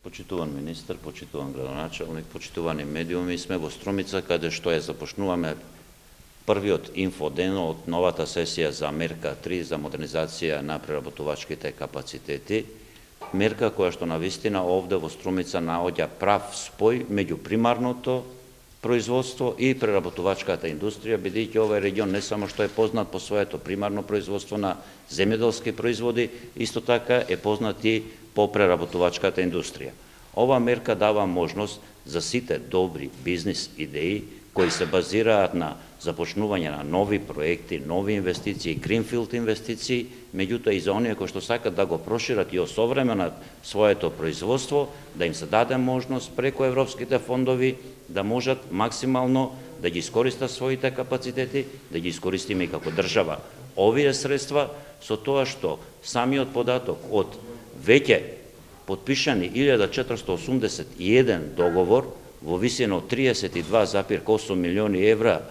Почитуван министр, почитуван градоначалник, почитувани медиуми, сме во Струмица, каде што ја започнуваме првиот инфоден од новата сесија за мерка 3 за модернизација на преработувачките капацитети. Мерка која што навистина овде во Струмица наоѓа прав спој меѓу примарното производство и преработувачката индустрија, бидејќи овој регион не само што е познат по своето примарно производство на земјоделски производи, исто така е познат и по преработувачката индустрија. Ова мерка дава можност за сите добри бизнис идеи кои се базираат на започнување на нови проекти, нови инвестиции, гринфилд инвестиции, меѓутоа и за оние кои што сакат да го прошират и осовременат своето производство, да им се даде можност преку европските фондови да можат максимално да ги искористат своите капацитети, да ги искористиме и како држава овие средства, со тоа што самиот податок од веќе подпишани 1481 договор во висина од 32,8 милиони евра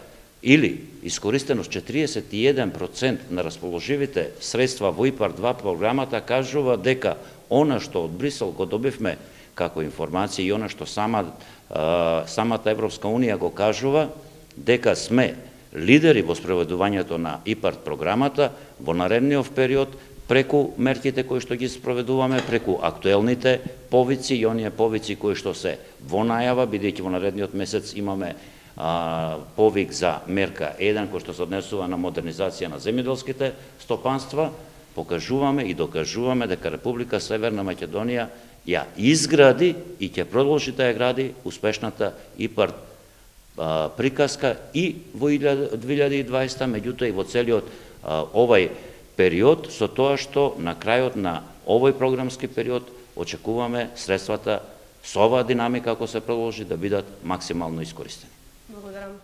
или искористеност 41% на расположивите средства во ИПАР-2 програмата кажува дека она што од Брисел го добивме како информација и она што самата Европска Унија го кажува, дека сме лидери во спроведувањето на ИПАР програмата во наредниот период преку мерките кои што ги спроведуваме, преку актуелните повици и оние повици кои што се во најава, бидејќи во наредниот месец имаме повик за мерка 1 кој што се однесува на модернизација на земјоделските стопанства, покажуваме и докажуваме дека Република Северна Македонија ја изгради и ќе продолжи да ја гради успешната ИПАР приказка и во 2020, меѓутоа и во целиот овај период, со тоа што на крајот на овој програмски период очекуваме средствата со оваа динамика, ако се продолжи, да бидат максимално искористени. Благодарам.